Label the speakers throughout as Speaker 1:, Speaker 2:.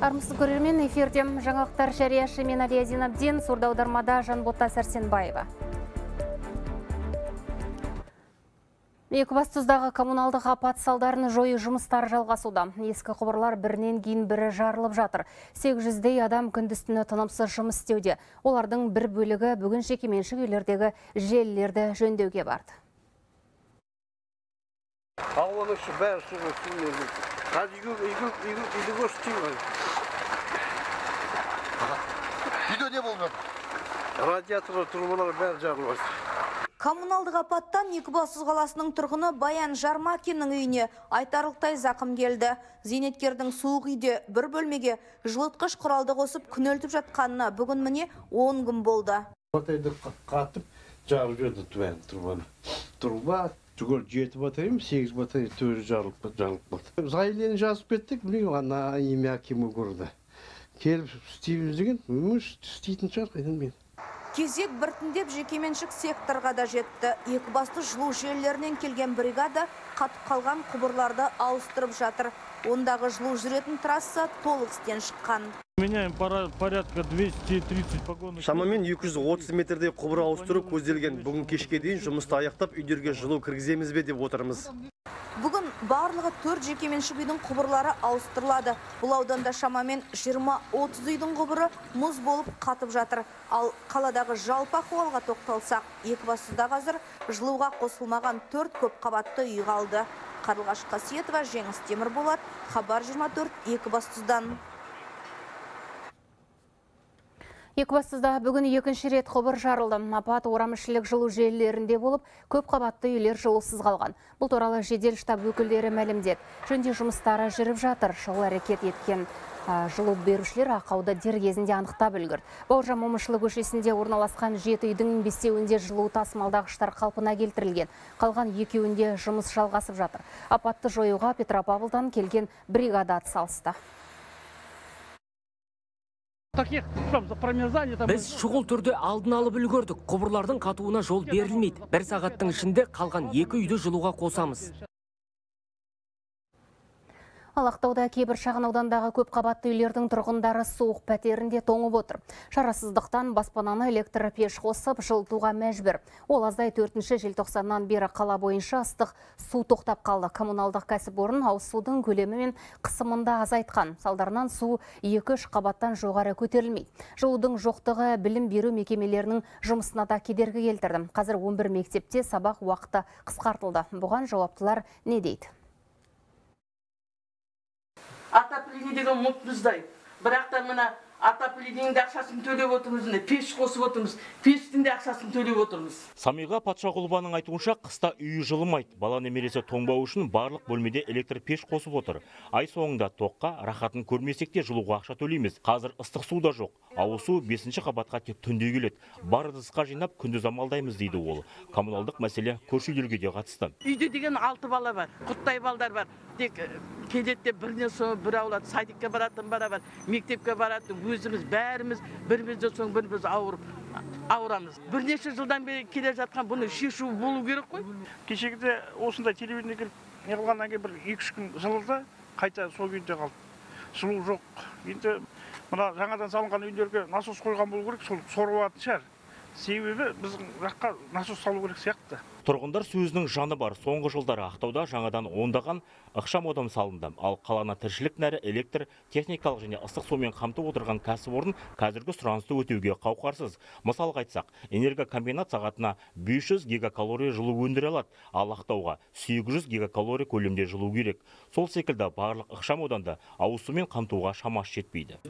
Speaker 1: Армысыз көрермен, эфирде жаңалықтар жарияшы мен Алия Зинабдин, сурда аудармада Жанбота Сәрсенбаева. Екібастұздағы коммуналдық апат салдарын жою жұмыстары жалғасуда. Ескі құбырлар бірінен кейін бірі жарылып жатыр. 800-дей адам күндіз-түні тынымсыз жұмыс істеуде. Олардың бір бөлігі бүгін жекеменшік үйлердегі желілерді жөндеуге барды.
Speaker 2: Үйде не болды?
Speaker 3: Радиаторлар, трубалар бәрі жарылып.
Speaker 4: Коммуналдық апаттан Екібастұз қаласының тұрғыны Баян Жармакиннің үйіне айтарлықтай зақым келді. Зейнеткердің суық үйде бір бөлмеге жылытқыш құралды қосып күнелтіп жатқанына бүгін міне 10 күн болды.
Speaker 3: Батайды қатып жарып жеді трубаны. Труба түгел 7 батарея, 8 батарея төрі жарылып барды. Заилені жазып кеттік, білейін, ана имя кемі көрді. Келіп істейміз деген, істейтін шығар қайдан мен.
Speaker 4: Кезек біртіндеп жекеменшік секторға да жетті. Екібастұз жылу желілерінен келген бригада қатып қалған құбырларды ауыстырып жатыр. Ондағы жылу жүретін трасса толық істен шыққан.
Speaker 5: Меняем порядка 230 погонных.
Speaker 2: Шамамен 230 метрдей құбыр ауыстыру көзделген. Бүгін кешке дейін жұмысты аяқтап үйдерге жылу кіргіземіз бе деп отырмыз.
Speaker 4: Бүгін барлығы 4 жекеменшік үйдің құбырлары ауыстырылады. Бұл ауданда шамамен 20-30 үйдің құбыры мұз болып қатып жатыр. Ал қаладағы жалпы ахуалға тоқталсақ, Екібастұзда қазір жылуға қосылмаған 4 көп қабатты үй қалды. Қарлығаш Қасиетова, Жеңіс Темірболат, Хабар 24, Екібастұздан.
Speaker 1: Екібастұзда бүгін екінші рет құбыр жарылды. Апат орамішілік жылу желілерінде болып, көп қабатты үйлер жылусыз қалған. Бұл туралы жедел штаб өкілдері мәлімдеді. Жөнде жұмыстары жүріп жатыр. Шұғыл әрекет еткен жылу берушілер ақауды дер кезінде анықтап үлгерді. Бауыржан Момышұлы көшесінде орналасқан 7 үйдің 5-еуінде жылу тасымалдағыштар қалпына келтірілген. Қалған 2-еуінде жұмыс жалғасып жатыр. Апатты жоюға Петропавлдан келген бригада атсалысты.
Speaker 6: Біз шұғыл түрде алдын алып үлгердік. Құбырлардың қатуына жол берілмейді. 1 сағаттың ішінде қалған 2 үйді жылуға қосамыз.
Speaker 1: Ал Ақтауда кейбір шағын аудандағы көп қабатты үйлердің тұрғындары суық пәтерінде тоңып отыр. Шарасыздықтан баспананы электр пеш қосып жылытуға мәжбүр. Ол аздай 4 желтоқсаннан бері қала бойынша ыстық су тоқтап қалды. Коммуналдық кәсіпорын ауыз судың көлемі мен қысымында азайтқан. Салдарынан су 2-3 қабаттан жоғары көтерілмейді. Жылудың жоқтығы білім беру мекемелерінің жұмысына да кедергі келтірді. Қазір 11 мектепте сабақ уақыты қысқартылды. Бұған жауаптылар не дейді?
Speaker 7: Отопление деген мұтпыздай. Бірақ та мына отоплениенің ақшасын төлеп отырмыз, пеш қосып отырмыз, пештің де ақшасын төлеп отырмыз.
Speaker 8: Самиға Патшағұлованың айтуынша қыста үйі жылымайды. Бала немересі тоңбау үшін барлық бөлмеде электр пеш қосып отыр. Ай соңында тоққа рахатын көрмесек те жылуға ақша төлейміз. Қазір ыстық су да жоқ. Ауыз су 5-ші қабатқа тек түнде келеді. Бар ыдысқа жинап күндіз амалдаймыз дейді ол. Коммуналдық мәселе көрші үйлерге де қатысты.
Speaker 7: Үйде деген 6 бала бар, құттай балдар бар. Тек келетте бірден соң бір аулады, садикке баратын бара бар, мектепке баратын, өзіміз бәріміз бірімізден соң біріміз ауырамыз. Бірнеше жылдан бері келе жатқан бұны шешу болу керек қой.
Speaker 5: Кешегіде осындай телевидение келіп не қылғаннан кейін бір 2-3 күн жылылды, қайта сол күйінде қалды. Жылу жоқ. Енді мына жаңадан салынған үйлерге насос қойған болу керек, сол сорылатын шығар. Себебі біздің жаққа насос салу керек сияқты.
Speaker 8: Тұрғындар сөзінің жаны бар. Соңғы жылдары Ақтауда жаңадан ондаған ықшам модем салынды. Ал қаланы тіршілік нәрі электр, техникалық және ыстық сумен қамтып отырған кәсіпорын қазіргі сұранысты өтеуге қауқарсыз. Мысалға айтсақ, энергокомбинат сағатына 500 гигакалория жылу өндіре алады, ал Ақтауға 800 гигакалория көлемде жылу керек. Сол секілді барлық ықшам ауданда ауыз сумен қамтуға шамасы жетпейді.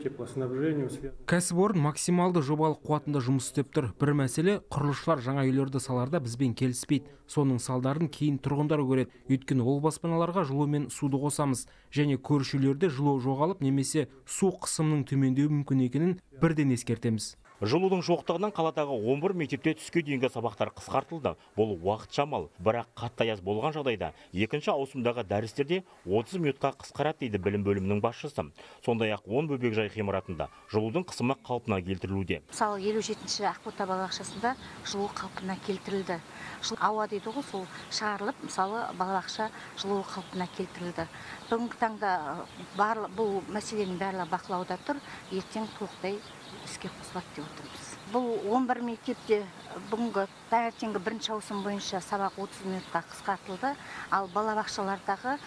Speaker 9: Кәсіпорын максималды жобалық қуатында жұмыс істеп тұр. Бір мәселе, құрылысшылар жаңа үйлерді саларда бізбен келіспейді. Соның салдарын кейін тұрғындар көреді. Өйткені ол баспаналарға жылу мен суды қосамыз. Және көрші үйлерде жылу жоғалып немесе су қысымының төмендеуі мүмкін екенін бірден ескертеміз.
Speaker 8: Жылудың жоқтығынан қаладағы 11 мектепте түске дейінгі сабақтар қысқартылды. Бұл уақыт шамал, бірақ қатты аяз болған жағдайда екінші ауысымдағы дәрістерде 30 минутқа қысқарады дейді білім бөлімінің басшысы. Сондай-ақ 10 бөбекжай ғимаратында жылудың қысымы қалпына келтірілуде.
Speaker 10: Мысалы 57-ші Ақбота балабақшасында жылу қалпына келтірілді. Ауа дейді ғой, сол шығарылып, мысалы балабақша жылу қалпына келтірілді. Бүгінгі таңда бұл мәселенің барлығы бақылауда тұр, ертең толықтай іске қосылады деп отырмыз. Бұл 11 мектепте бүгінгі таңертеңгі бірінші ауысым бойынша сабақ 30 минутқа қысқартылды, ал балабақшалардағы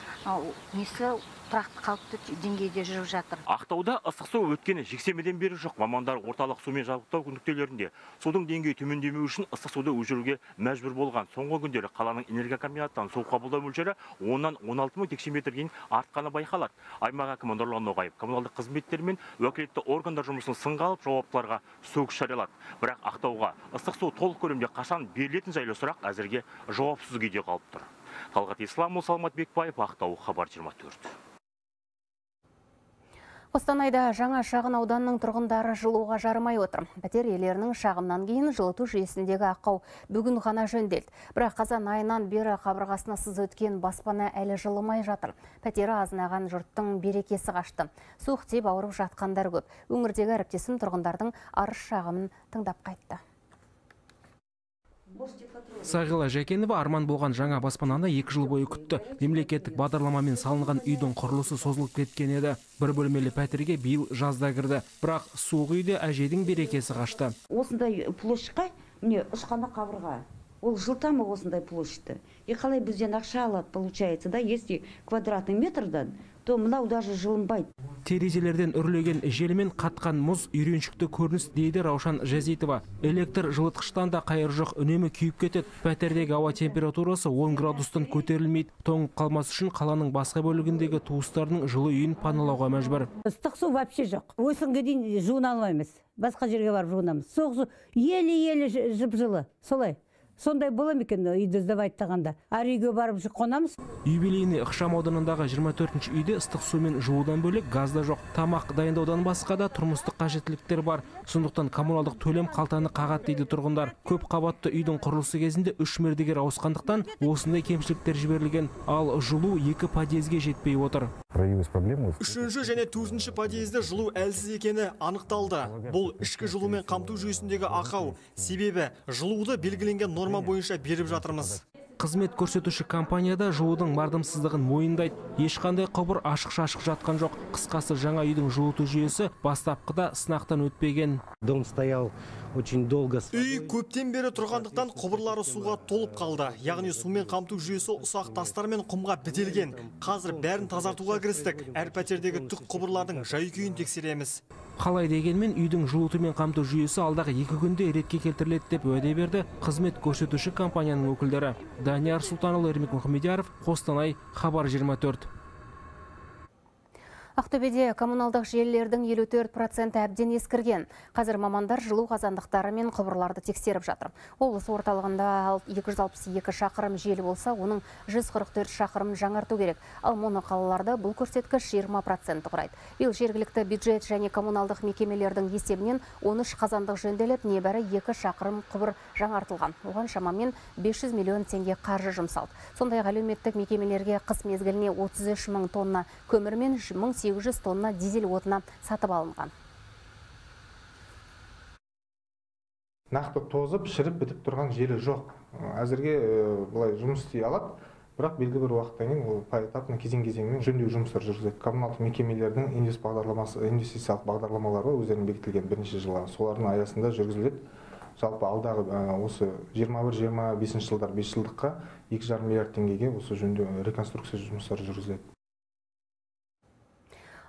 Speaker 10: несі тұрақты қалыпты деңгейде жүріп жатыр.
Speaker 8: Ақтауда ыстық су өткені жексенбіден бері жоқ. Мамандар орталық сумен жабдықтау нүктелерінде судың деңгейі төмендемеу үшін ыстық суды өшіруге мәжбүр болған. Соңғы күндері қаланың энергия комбинаттан су қабылдау мөлшері 10-нан 16 мың текше метрге дейін артқаны байқалады. Аймақ әкімі Нұрлан Ноғаев коммуналдық қызметтер мен уәкілетті органдар жұмысын сынға алып, жауаптыларға сөгіс жариялады. Бірақ Ақтауға ыстық су толық көлемде қашан берілетін жайлы сұрақ әзірге жауапсыз күйде қалып тұр. Талғат Исламұлы, Саламат Бекбаев, Ақтау, Хабар 24.
Speaker 1: Қостанайда жаңа шағын ауданның тұрғындары жылуға жарымай отыр. Пәтер иелерінің шағымнан кейін жылыту жүйесіндегі ақау бүгін ғана жөнделді. Бірақ қазан айынан бері қабырғасына сыз өткен баспана әлі жылымай жатыр. Пәтері азынаған жұрттың берекесі қашты. Суық тиіп ауырып жатқандар көп. Өңірдегі әріптесім тұрғындардың арыз шағымын тыңдап қайтты.
Speaker 9: Сағила Жәкенова арман болған жаңа баспананы 2 жыл бойы күтті. Мемлекеттік бағдарламамен салынған үйдің құрылысы созылып кеткен еді. Бір бөлмелі пәтерге биыл жазда кірді. Бірақ суық үйде әжейдің берекесі қашты.
Speaker 11: Осындай площадьқа, міне ұшқана қабырға. Ол жылтамы осындай площадьті. Қалай бізден ақша алады, получается, да, если квадратный метрдан, то мынау даже жылынбайды.
Speaker 9: Терезелерден үрлеген желмен қатқан мұз үйреншікті көрініс дейді Раушан Жазитова. Электр жылытқыштан да қайыр жоқ, үнемі күйіп кетеді. Пәтердегі ауа температурасы 10 градустан көтерілмейді. Тоңып қалмас үшін қаланың басқа бөлігіндегі туыстарының жылы үйін паналауға мәжбүр.
Speaker 12: Ыстық су вообще жоқ. Осынға дейін жуына алмаймыз. Басқа жерге барып жуынамыз. Соғыс еле-еле жып-жылы. Солай. Сондай бола ма екен үйді сдавайттағанда. Ар үйге барып қонамыз.
Speaker 9: Юбилейный ықшам ауданындағы 24-ші үйде ыстық сумен жуудан бөлек газда жоқ. Тамақ дайындаудан басқа да тұрмыстық қажеттіліктер бар. Сондықтан коммуналдық төлем қалтаны қағат дейді тұрғындар. Көп қабатты үйдің құрылысы кезінде 3 мердігер ауысқандықтан осындай кемшіліктер жіберілген. Ал жылу 2 подъезге жетпей отыр.
Speaker 13: Үшінші және 4-ші подъезде жылу әлсіз екені анықталды. Бұл ішкі жылумен қамту жүйесіндегі ақау. Себебі жылуды белгіленген норма бойынша беріп жатырмыз.
Speaker 9: Қызмет көрсетуші компанияда жылудың мардымсыздығын мойындайды. Ешқандай құбыр ашық-шашық жатқан жоқ. Қысқасы жаңа үйдің жылыту жүйесі бастапқыда сынақтан өтпеген.
Speaker 13: Дом стоял очень долго. Үй көптен бері тұрғандықтан құбырлары суға толып қалды. Яғни сумен қамту жүйесі ұсақ тастар мен құмға бітелген. Қазір бәрін тазартуға кірістік. Әр пәтердегі түк құбырлардың жай-күйін тексереміз.
Speaker 9: Қалай дегенмен үйдің жылытумен қамту жүйесі алдағы 2 күнде ретке келтіріледі деп уәде берді қызмет көрсетуші компанияның өкілдері. Данияр Сұлтанұлы, Ермек Мұхамедияров, Қостанай, Хабар 24.
Speaker 1: Ақтөбеде коммуналдық желілердің 54% әбден ескірген. Қазір мамандар жылу қазандықтары мен құбырларды тексеріп жатыр. Облыс орталығында 262 шақырым желі болса, оның 144 шақырым жаңарту керек. Ал моноқалаларда бұл көрсеткіш 20% құрайды. Биыл жергілікті бюджет және коммуналдық мекемелердің есебінен 13 қазандық жөнделіп, небәрі 2 шақырым құбыр жаңартылған. Оған шамамен 500 миллион теңге қаржы жұмсалды. Сондай-ақ әлеуметтік мекемелерге қыс мезгіліне 33 мың тонна көмір мен 1800 тонна дизель отына сатып алынған.
Speaker 14: Нақты тозып, шіріп бітіп тұрған жері жоқ. Әзірге бұлай жұмыс істей алады, бірақ белгілі бір уақыттан кейін ол поэтапно кезең-кезеңмен жөндеу жұмыстар жүргізеді. Коммуналдық мекемелердің инвестициялық бағдарламалары өздерінің бекітілген бірнеше жылға. Солардың аясында жүргізіледі. Жалпы алдағы осы 21-25 жылдар 5 жылдыққа 2,5 миллиард теңгеге осы жөндеу реконструкция жұмыстары жүргізіледі.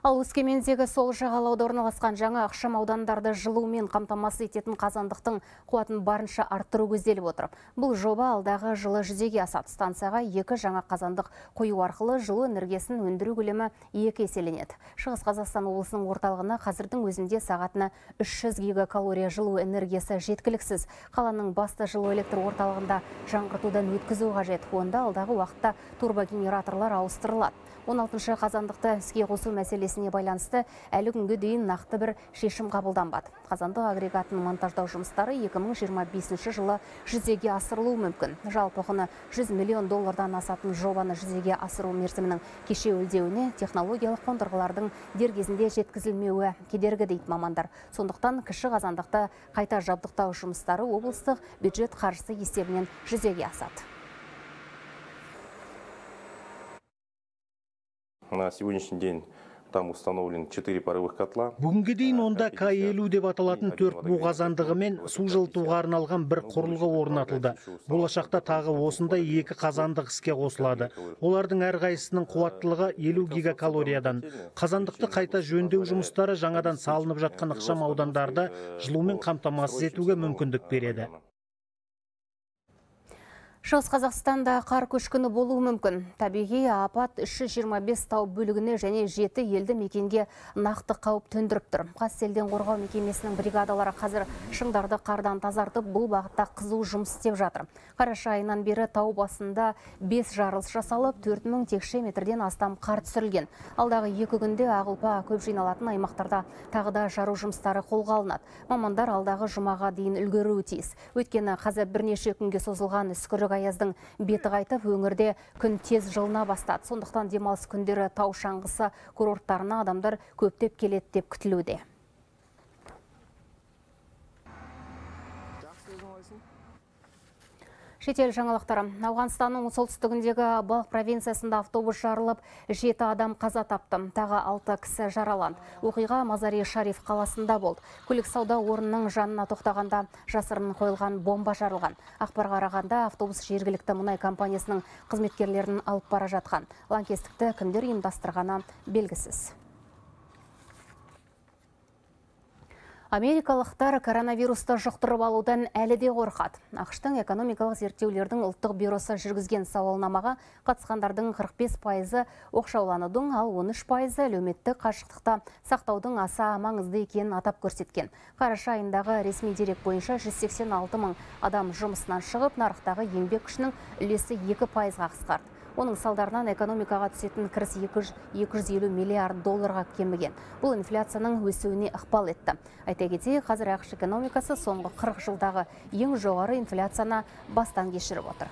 Speaker 1: Ал Өскемендегі сол жағалауда орналасқан жаңа ықшам аудандарды жылумен қамтамасыз ететін қазандықтың қуатын барынша арттыру көзделіп отыр. Бұл жоба алдағы жылы жүзеге асады. Станцияға 2 жаңа қазандық қою арқылы жылу энергиясын өндіру көлемі 2 еселенеді. Шығыс Қазақстан облысының орталығына қазірдің өзінде сағатына 300 гигакалория жылу энергиясы жеткіліксіз. Қаланың басты жылу электр орталығында жаңғыртудан өткізу қажет. Онда алдағы уақытта турбогенераторлар ауыстырылады. 16-шы қазандықты іске қосу мәселесі мәселесіне байланысты әлі күнге дейін нақты бір шешім қабылданбады. Қазандық агрегатын монтаждау жұмыстары 2025 жылы жүзеге асырылуы мүмкін. Жалпы құны $100 миллион асатын жобаны жүзеге асыру мерзімінің кешеуілдеуіне технологиялық қондырғылардың дер кезінде жеткізілмеуі кедергі дейді мамандар. Сондықтан кіші қазандықты қайта жабдықтау жұмыстары облыстық бюджет қаржысы есебінен жүзеге асады.
Speaker 15: На сегодняшний день там установлен 4 паровых котла.
Speaker 16: Бүгінге дейін онда К50 деп аталатын 4 бу қазандығы мен су жылытуға арналған бір құрылғы орнатылды. Болашақта тағы осындай 2 қазандық іске қосылады. Олардың әрқайсысының қуаттылығы 50 гигакалориядан. Қазандықты қайта жөндеу жұмыстары жаңадан салынып жатқан ықшам аудандарды жылумен қамтамасыз етуге мүмкіндік береді.
Speaker 1: Шығыс Қазақстанда қар көшкіні болуы мүмкін. Табиғи апат 325 тау бөлігіне және 7 елді мекенге нақты қауіп төндіріп тұр. Қазселден қорғау мекемесінің бригадалары қазір шыңдарды қардан тазартып, бұл бағытта қызу жұмыс істеп жатыр. Қараша айынан бері тау басында 5 жарылыс жасалып, 4000 текше метрден астам қар түсірілген. Алдағы 2 күнде ағылпа көп жиналатын аймақтарда тағы да жару жұмыстары қолға алынады. Мамандар алдағы жұмаға дейін үлгеруі тиіс. Өйткені қазір бірнеше күнге созылған үскірік аяздың беті қайтып, өңірде күн тез жылына бастады. Сондықтан демалыс күндері тау шаңғысы курорттарына адамдар көптеп келеді деп күтілуде. Шетел жаңалықтары. Ауғанстанның солтүстігіндегі Балық провинциясында автобус жарылып, 7 адам қаза тапты, тағы 6 кісі жараланды. Оқиға Мазари-Шариф қаласында болды. Көлік сауда орнының жанына тоқтағанда жасырын қойылған бомба жарылған. Ақпарға қарағанда автобус жергілікті мұнай компаниясының қызметкерлерін алып бара жатқан. Лаңкестікті кімдер ұйымдастырғаны белгісіз. Америкалықтар коронавирусты жұқтырып алудан әлі де қорқады. ақш-тың экономикалық зерттеулердің ұлттық бюросы жүргізген сауалнамаға қатысқандардың 45% оқшауланудың, ал 13% әлеуметтік қашықтықта сақтаудың аса маңызды екенін атап көрсеткен. Қараша айындағы ресми дерек бойынша 186 мың адам жұмысынан шығып, нарықтағы еңбек күшінің үлесі 2%-ға қысқарды. Оның салдарынан экономикаға түсетін кіріс $250 миллиард кеміген. Бұл инфляцияның өсуіне ықпал етті. Айта кетейік, қазір ақш экономикасы соңғы 40 жылдағы ең жоғары инфляцияны бастан кешіріп отыр.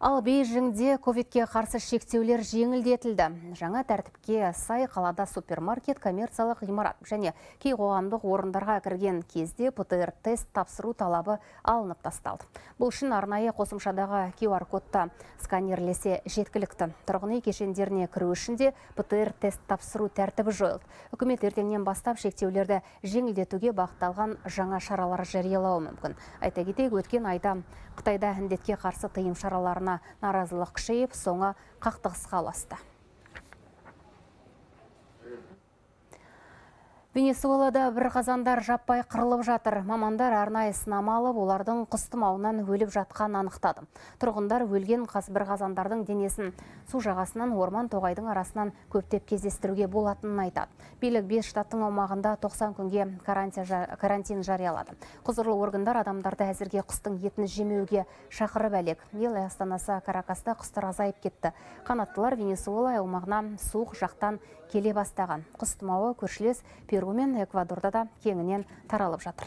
Speaker 1: Ал Бейжіңде ковидке қарсы шектеулер жеңілдетілді. Жаңа тәртіпке сай қалада супермаркет, коммерциялық ғимарат және кей қоғамдық орындарға кірген кезде ПЦР тест тапсыру талабы алынып тасталды. Бұл үшін арнайы қосымшадағы QR кодта сканерлесе жеткілікті. Тұрғын үй кешендеріне кіру үшін де ПЦР тест тапсыру тәртібі жойылды. Үкімет ертеңнен бастап шектеулерді жеңілдетуге бағытталған жаңа шаралар жариялауы мүмкін. Айта кетейік, өткен айда Қытайда індетке қарсы тыйым шараларына наразылық күшейіп, соңы қақтығысқа ұласты. Венесуэлада бір қазандар жаппай қырылып жатыр. Мамандар арнайы сынама алып, олардың құс тұмауынан өліп жатқан анықтады. Тұрғындар өлген бір қазандардың денесін су жағасынан орман тоғайдың арасынан көптеп кездестіруге болатынын айтады. Билік 5 штаттың аумағында 90 күнге карантин жариялады. Құзырлы органдар адамдарды әзірге құстың етін жемеуге шақырып әлек. Ел астанасы Каракаста құстар азайып кетті. Қанаттылар Венесуэла аумағына суық жақтан келе бастаған. Құс тұмауы көршілес Перу мен Эквадорда да кеңінен таралып жатыр.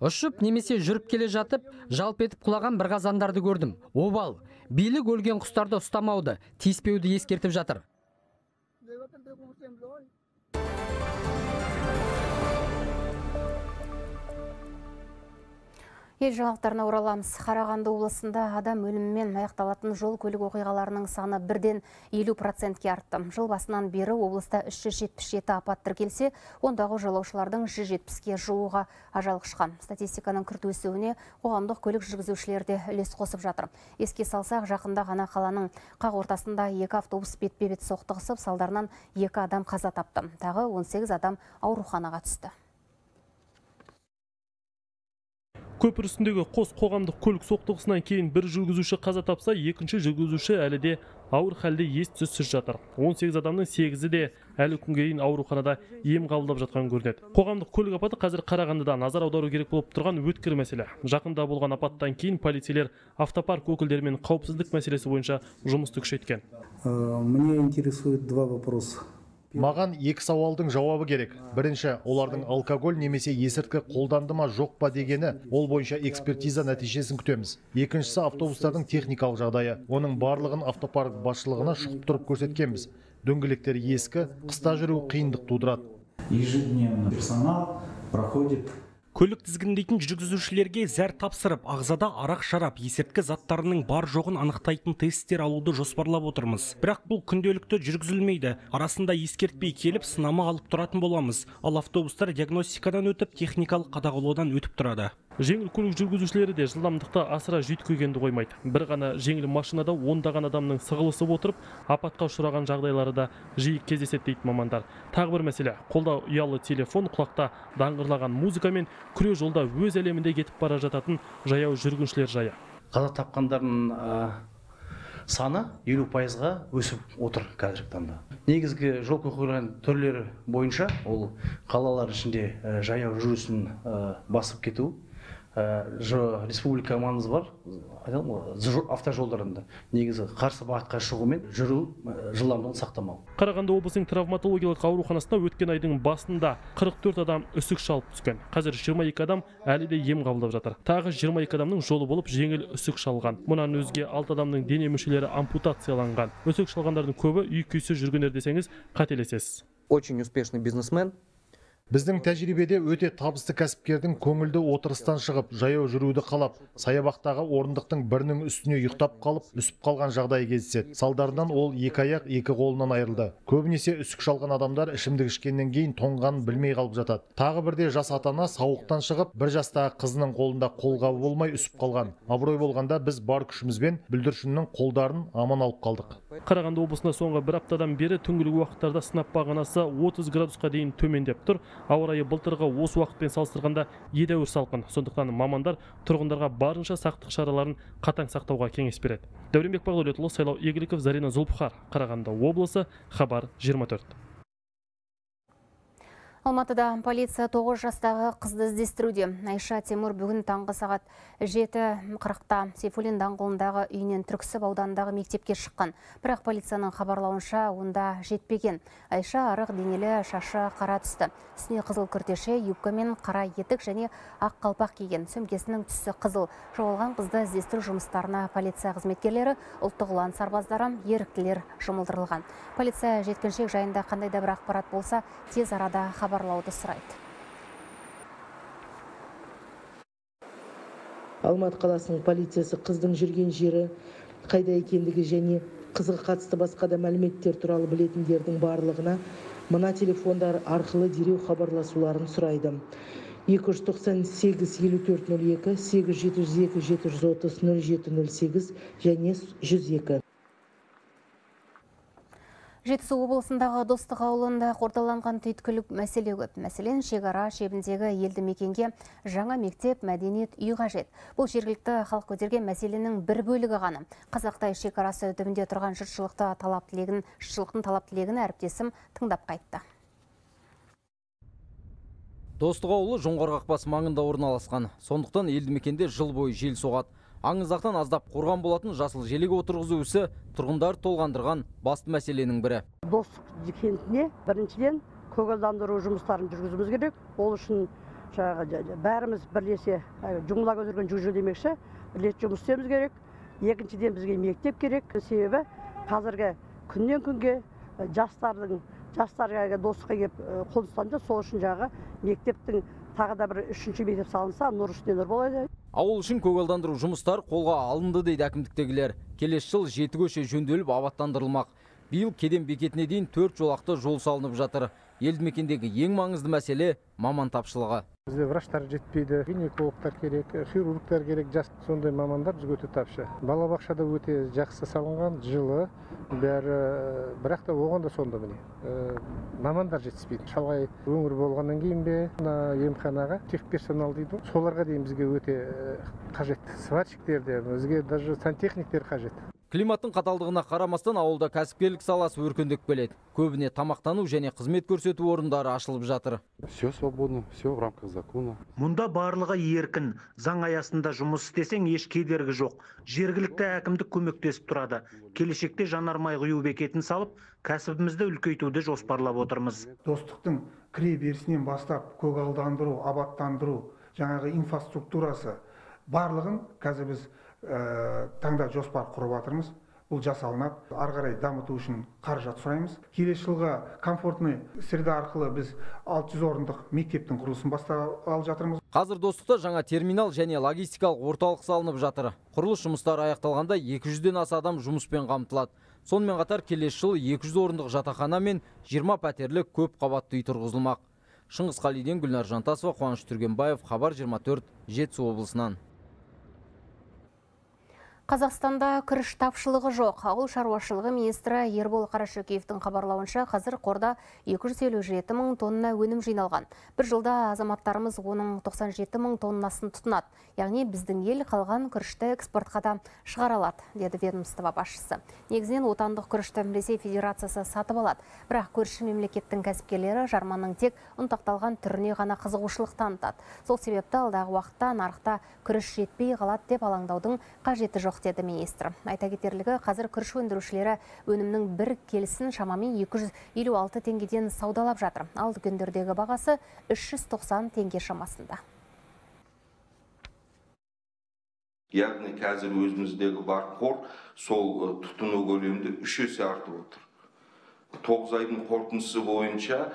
Speaker 17: Ұшып немесе жүріп келе жатып, жалп етіп құлаған бір қазандарды көрдім. Обал, билік өлген құстарды ұстамауды, тиіспеуді ескертіп жатыр.
Speaker 1: Ел жаңалықтарына ораламыз. Қарағанды облысында адам өлімімен аяқталатын жол көлік оқиғаларының саны 1-50%-ке артты. Жыл басынан бері облыста 377 апат тіркелсе, ондағы жолаушылардың 170-ке жуығы ажал құшқан. Статистиканың күрт өсуіне қоғамдық көлік жүргізушілері үлес қосып жатыр. Еске салсақ, жақында ғана қаланың қақ ортасында 2 автобус бетпе-бет соқтығысып, салдарынан 2 адам қаза тапты. Тағы 18 адам ауруханаға түсті.
Speaker 18: Көпір үстіндегі қос қоғамдық көлік соқтығысынан кейін бір жүргізуші қаза тапса, екінші жүргізуші әлі де ауыр халде ес-түссіз жатыр. 18 адамның 8-і де әлі күнге дейін ауруханада ем қабылдап жатқан көрінеді. Қоғамдық көлік апаты қазір Қарағандыда назар аудару керек болып тұрған өткір мәселе. Жақында болған апаттан кейін полицейлер автопарк өкілдерімен қауіпсіздік мәселесі бойынша жұмысты күшейткен.
Speaker 19: Меня интересует два вопроса.
Speaker 20: Маған екі сауалдың жауабы керек. Бірінші, олардың алкоголь немесе есірткі қолданды ма жоқ па дегені, ол бойынша экспертиза нәтижесін күтеміз. Екіншісі, автобустардың техникалық жағдайы. Оның барлығын автопарк басшылығына шұқып тұрып көрсеткенбіз. Дөңгелектер ескі, қыста жүру қиындық тудырады.
Speaker 19: Ежедневно персонал проходит.
Speaker 9: Көлік тізгіндейтін жүргізушілерге зәр тапсырып, ағзада арақ шарап, есірткі заттарының бар жоғын анықтайтын тесттер алуды жоспарлап отырмыз. Бірақ бұл күнделікті жүргізілмейді. Арасында ескертпей келіп, сынама алып тұратын боламыз. Ал автобустар диагностикадан өтіп, техникалық қадағалаудан өтіп тұрады.
Speaker 18: Жеңіл көлік жүргізушілері де жылдамдықты асыра жүйткігенді қоймайды. Бір ғана жеңіл машинада ондаған адамның сығылысып отырып, апатқа ұшыраған жағдайлары да жиі кездеседі дейді мамандар. Тағы бір мәселе, қолда ұялы телефон, құлақта даңғырлаған музыка мен күре жолда өз әлемінде кетіп бара жататын жаяу жүргіншілер жайы.
Speaker 21: Қаза тапқандардың саны 50%-ға өсіп отыр қазіргі таңда. Негізгі жол оқиғаларының түрлері бойынша ол қалалар ішінде жаяу жүрісін басып кету, республика маңызы бар автожолдарында негізі қарсы бағытқа шығумен жүру жылдамдығын сақтамау.
Speaker 18: Қарағанды облысының травматологиялық ауруханасына өткен айдың басында 44 адам үсік шалып түскен. Қазір 22 адам әлі де ем қабылдап жатыр. Тағы 22 адамның жолы болып жеңіл үсік шалған. Мұнан өзге 6 адамның дене мүшелері ампутацияланған. Үсік шалғандардың көбі үй-күйсіз жүргендер десеңіз қателесесіз.
Speaker 22: Очень успешный бизнесмен.
Speaker 20: Біздің тәжірибеде өте табысты кәсіпкердің көңілді отырыстан шығып, жаяу жүруді қалап, саябақтағы орындықтың бірінің үстіне ұйықтап қалып, үсіп қалған жағдайы кездеседі. Салдарынан ол екі аяқ, екі қолынан айырылды. Көбінесе үсік шалған адамдар ішімдік ішкеннен кейін тоңғанын білмей қалып жатады. Тағы бірде жас ата-ана сауықтан шығып, бір жастағы қызының қолында қолғабы болмай үсіп қалған. Абырой болғанда біз бар күшімізбен бүлдіршіннің қолдарын аман алып қалдық.
Speaker 18: Қарағанды облысында соңғы бір аптадан бері түнгі уақыттарда сынап бағанасы 30 градусқа дейін төмендеп тұр. Ауа райы былтырғы осы уақытпен салыстырғанда едәуір салқын. Сондықтан мамандар тұрғындарға барынша сақтық шараларын қатаң сақтауға кеңес береді. Дәуренбек Бағдәулетұлы, Сайлау Игіліков, Зарина Зұлпхар, Қарағанды облысы, Хабар 24.
Speaker 1: Алматыда полиция 9 жастағы қызды іздестіруде. Айша Темір бүгін таңғы сағат 7:40-та Сейфуллин даңғылындағы үйінен Түрксіб ауданындағы мектепке шыққан. Бірақ полицияның хабарлауынша онда жетпеген. Айша арық денелі, шашы қара түсті. Үстіне қызыл күртеше, юбка мен қара етік және ақ қалпақ киген. Сөмкесінің түсі қызыл. Жоғалған қызды іздестіру жұмыстарына полиция қызметкерлері, ұлттық ұлан сарбаздары, еріктілер жұмылдырылған. Полиция жеткіншек жайында қандай да бір ақпарат болса, тез арада хабарлауды сұрайды.
Speaker 23: Алматы қаласының полициясы қыздың жүрген жері, қайда екендігі және қызға қатысты басқа да мәліметтер туралы білетіндердің барлығына мына телефондар арқылы дереу хабарласуларын сұрайды. 298 5402, 8702 730 0708 және 102.
Speaker 1: Жетісу облысындағы Достық ауылында қордаланған түйткілік мәселе көп. Мәселен, шекара шебіндегі елді мекенге жаңа мектеп, мәдениет үй қажет. Бұл жергілікті халық көтерген мәселенің бір бөлігі ғана. Қазақ-Қытай шекарасы түбінде тұрған жұртшылықтың талап тілегін әріптесім тыңдап қайтты.
Speaker 24: Достық ауылы Жоңғар қақпасы маңында орналасқан. Сондықтан елді мекенде жыл бойы жел соғады. Аңызақтан аздап қорған болатын жасыл желеге отырғызу ісі тұрғындар толғандырған басты мәселенің бірі.
Speaker 25: Достық кентіне біріншіден көгалдандыру жұмыстарын жүргізуіміз керек. Ол үшін бәріміз бірлесе жұмыла көтерген жүзу демекші, бірлесе жұмыс істеуіміз керек. Екіншіден бізге мектеп керек. Себебі қазіргі күннен күнге жастарға достыққа келіп қоныстанды. Сол үшін мектептің тағы да бір үшінші мектеп салынса, нұр үстіне нұр болады.
Speaker 24: Ауыл үшін көгалдандыру жұмыстар қолға алынды дейді әкімдіктегілер. Келесі жыл 7 көше жөнделіп абаттандырылмақ. Биыл кеден бекетіне дейін 4 жолақты жол салынып жатыр. Елді мекендегі ең маңызды мәселе маман тапшылығы.
Speaker 14: Бізде врачтар жетпейді, гинекологтар керек, хирургтар керек, жас сондай мамандар бізге өте тапшы. Балабақшада өте жақсы салынған, жылы, бәрі, бірақ та оған да сонда міне. Мамандар жетіспейді. Шалғай өңір болғаннан кейін бе, емханаға техперсонал дейді. Соларға дейін бізге өте қажет. Сварщиктер де, бізге даже сантехниктер қажет.
Speaker 24: Климаттың қаталдығына қарамастан ауылда кәсіпкерлік саласы өркендеп келеді. Көбіне тамақтану және қызмет көрсету орындары ашылып жатыр.
Speaker 2: Все свободно, все в рамках закона.
Speaker 3: Мұнда барлығы еркін. Заң аясында жұмыс істесең еш кедергі жоқ. Жергілікті әкімдік көмектесіп тұрады. Келешекте жанармай құю бекетін салып, кәсібімізді үлкейтуді жоспарлап отырмыз.
Speaker 4: Достықтың кіре берісінен бастап көгалдандыру, абаттандыру, жаңағы инфраструктурасы барлығын қазір біз таңда жоспар құрып жатырмыз. Бұл жасалынады. Ары қарай дамыту үшін қаражат сұраймыз. Келесі жылға комфортный среда арқылы біз 600 орындық мектептің құрылысын бастап алып жатырмыз.
Speaker 24: Қазір Достықта жаңа терминал және логистикалық орталық салынып жатыр. Құрылыс жұмыстары аяқталғанда 200-ден аса адам жұмыспен қамтылады. Сонымен қатар келесі жылы 200 орындық жатақхана мен 20 пәтерлік көп қабатты үй тұрғызылмақ. Шыңғыс Қалиден, Гүлнар Жантасова, Қуаныш Түргенбаев, Хабар 24, Жетісу облысынан.
Speaker 1: Қазақстанда күріш тапшылығы жоқ. Ауыл шаруашылығы министрі Ербол Қарашөкеевтің хабарлауынша қазір қорда 257 мың тонна өнім жиналған. Бір жылда азаматтарымыз оның 97 мың тоннасын тұтынады. Яғни біздің ел қалған күрішті экспортқа да шығара алады, деді ведомство басшысы. Негізінен отандық күрішті Ресей Федерациясы сатып алады. Бірақ көрші мемлекеттің кәсіпкерлері жарманың тек ұнтақталған түріне ғана қызығушылық танытады. Сол себепті алдағы уақытта нарықта күріш жетпей қалады деп алаңдаудың қажеті жоқ, деді министр. Айта кетерлігі, қазір күріш өндірушілері өнімнің бір келісін шамамен 256 теңгеден саудалап жатыр. Ал дүкендердегі бағасы 390 теңге шамасында.
Speaker 6: Яғни қазір өзіміздегі бар қор сол тұтыну көлемінде 3 есе артып отыр. 9 айдың қорытындысы бойынша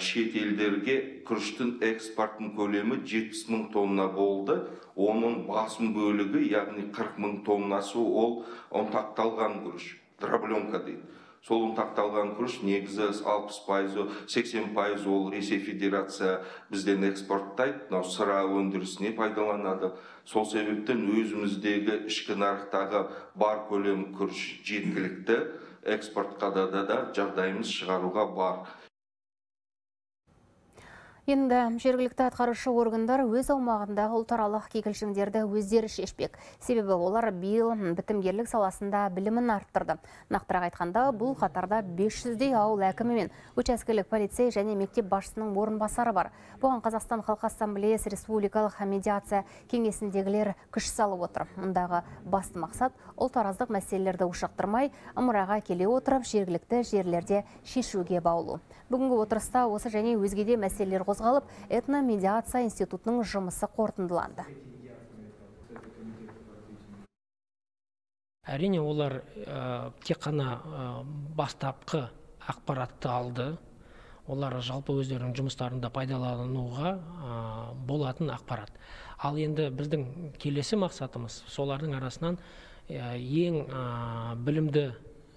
Speaker 6: шет елдерге күріштің экспортының көлемі 70 мың тонна болды. Оның басым бөлігі, яғни 40 мың тоннасы ол ұнтақталған күріш, дробленка дейді. Сол ұнтақталған күріш негізі 60%, 80% ол Ресей Федерация бізден экспорттайды, сыра өндірісіне пайдаланады. Сол себептен өзіміздегі ішкі нарықтағы бар көлем күріш жеткілікті, экспортқа да жағдайымыз шығаруға бар.
Speaker 1: Енді жергілікті атқарушы органдар өз аумағындағы ұлтаралық кикілжіңдерді өздері шешпек. Себебі олар биыл бітімгерлік саласында білімін арттырды. Нақтырақ айтқанда, бұл қатарда 500-дей ауыл әкімі мен учаскелік полицей және мектеп басшысының орынбасары бар. Бұған Қазақстан Халқы Ассамблеясы Республикалық медиация кеңесіндегілер күш салып отыр. Мұндағы басты мақсат ұлтараздық мәселелерді ушықтырмай, ымыраға келе отырып жергілікті жерлерде шешуге баулу. Бүгінгі отырыста осы және өзгеде мәселелер қозғалып, этномедиация институтының жұмысы қорытындыланды.
Speaker 7: Әрине, олар тек қана бастапқы ақпаратты алды. Олар жалпы өздерінің жұмыстарында пайдалануға болатын ақпарат. Ал енді біздің келесі мақсатымыз солардың арасынан ең білімді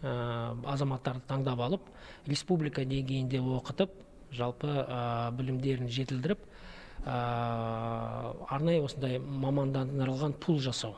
Speaker 7: азаматтарды таңдап алып, республика деңгейінде оқытып, жалпы білімдерін жетілдіріп, арнайы осындай мамандандырылған пул жасау.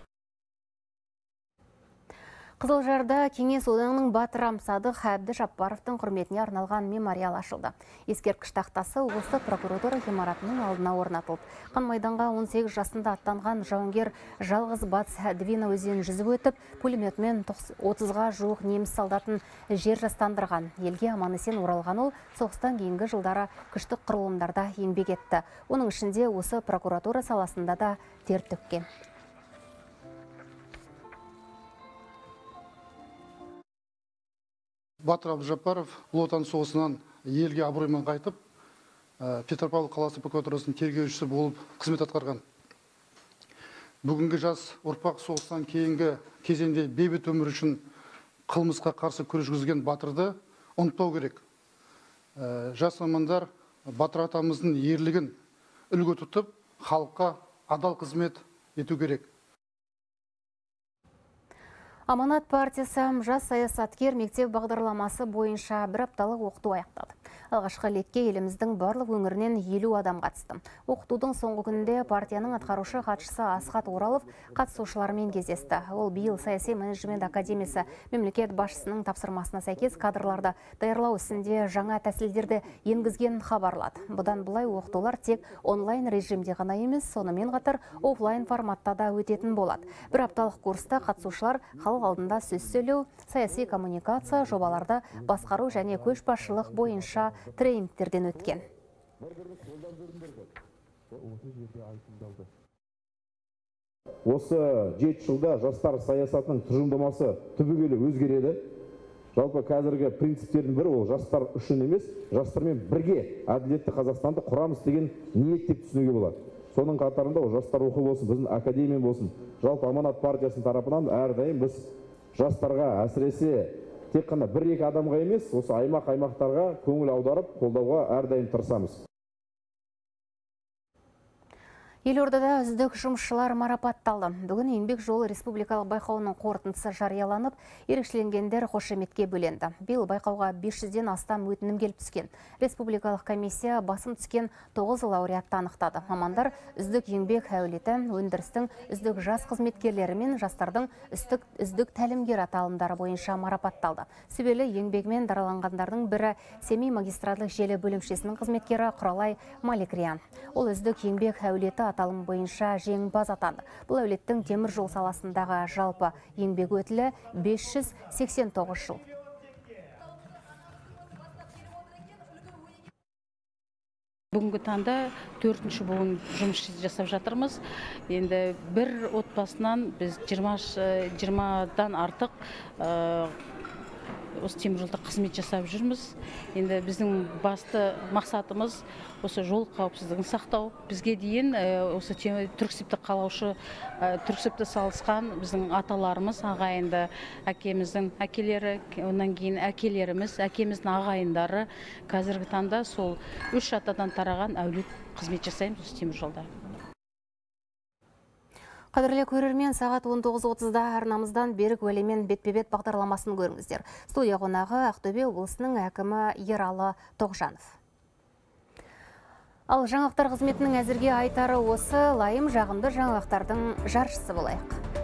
Speaker 1: Қызылжарда Кеңес одағының батыры Амсадық Әбді Жаппаровтың құрметіне арналған мемориал ашылды. Ескерткіш тақтасы облыстық прокуратура ғимаратының алдына орнатылды. Қан майданға 18 жасында аттанған жауынгер жалғыз батыс Двина өзенін жүзіп өтіп, пулеметмен 30-ға жуық неміс солдатын жер жастандырған. Елге аман-есен оралған ол соғыстан кейінгі жылдары күштік құрылымдарда еңбек етті. Оның ішінде осы прокуратура саласында да тер төккен.
Speaker 26: Батыр Әбдіжаппаров ұлы отан соғысынан елге абыроймен қайтып, Петропавл қаласы прокуратурасының тергеушісі болып қызмет атқарған. Бүгінгі жас ұрпақ соғыстан кейінгі кезеңде бейбіт өмір үшін қылмысқа қарсы күрес жүргізген батырды ұмытпау керек. Жас мамандар батыр атамыздың ерлігін үлгі тұтып, халыққа адал қызмет ету керек.
Speaker 1: Аманат партиясы жас саясаткер мектеп бағдарламасы бойынша бір апталық оқыту аяқтады. Алғашқы лекке еліміздің барлық өңірінен 50 адам қатысты. Оқытудың соңғы күнінде партияның атқарушы хатшысы Асхат Оралов қатысушылармен кездесті. Ол биыл саяси менеджмент академиясы мемлекет басшысының тапсырмасына сәйкес кадрларды даярлау ісінде жаңа тәсілдерді енгізген хабарлады. Бұдан былай оқытулар тек онлайн режимде ғана емес, сонымен қатар офлайн форматта да өтетін болады. Бір апталық курста қатысушылар халық алдында сөз сөйлеу, саяси коммуникация, жобаларды басқару және көшбасшылық бойынша тренингтерден өткен.
Speaker 5: Осы 7 жылда жастар саясатының тұжырымдамасы түбегейлі өзгереді. Жалпы қазіргі принциптердің бірі ол жастар үшін емес, жастармен бірге әділетті Қазақстанды құрамыз деген ниет деп түсінуге болады. Соның қатарында ол жастар рухы болсын, біздің академия болсын, жалпы Аманат партиясының тарапынан әрдайым біз жастарға, әсіресе тек қана 1-2 адамға емес, осы аймақтарға көңіл аударып, қолдауға әрдайым тырысамыз.
Speaker 1: Елордада үздік жұмысшылар марапатталды. Бүгін еңбек жолы республикалық байқауының қорытындысы жарияланып, ерекшеленгендер қошеметке бөленді. Биыл байқауға 500-ден астам өтінім келіп түскен. Республикалық комиссия басым түскен 9 лауреатты анықтады. Мамандар үздік еңбек әулеті, өндірістің үздік жас қызметкерлері мен жастардың үздік тәлімгер аталымдары бойынша марапатталды. Сүбелі еңбегімен дараланғандардың бірі Семей магистратлық желі бөлімшесінің қызметкері Құралай Маликриан. Ол үздік еңбек әулеті аталым бойынша жеңімпаз атанды. Бұл әулеттің темір жол саласындағы жалпы еңбек өтілі 589 жыл.
Speaker 8: Бүгінгі таңда 4-ші буын жұмыс жасап жатырмыз. Енді бір отбасынан біз 20-дан артық осы темір жолда қызмет жасап жүрміз. Енді біздің басты мақсатымыз осы жол қауіпсіздігін сақтау. Бізге дейін осы түрксібті қалаушы, түрксібті салысқан біздің аталарымыз, ағайынды әкеміздің әкелері, онан кейін әкелеріміз, әкеміздің ағайындары. Қазіргі таңда сол 3 атадан тараған әулет қызмет жасаймыз осы темір жолда.
Speaker 1: Қадірлі көрермен, сағат 19:30-да арнамыздан Берік Уәлимен бетпе-бет бағдарламасын көріңіздер. Студия қонағы Ақтөбе облысының әкімі Ералы Тоғжанов. Ал жаңалықтар қызметінің әзірге айтары осы, лайым жағымды жаңалықтардың жаршысы болайық.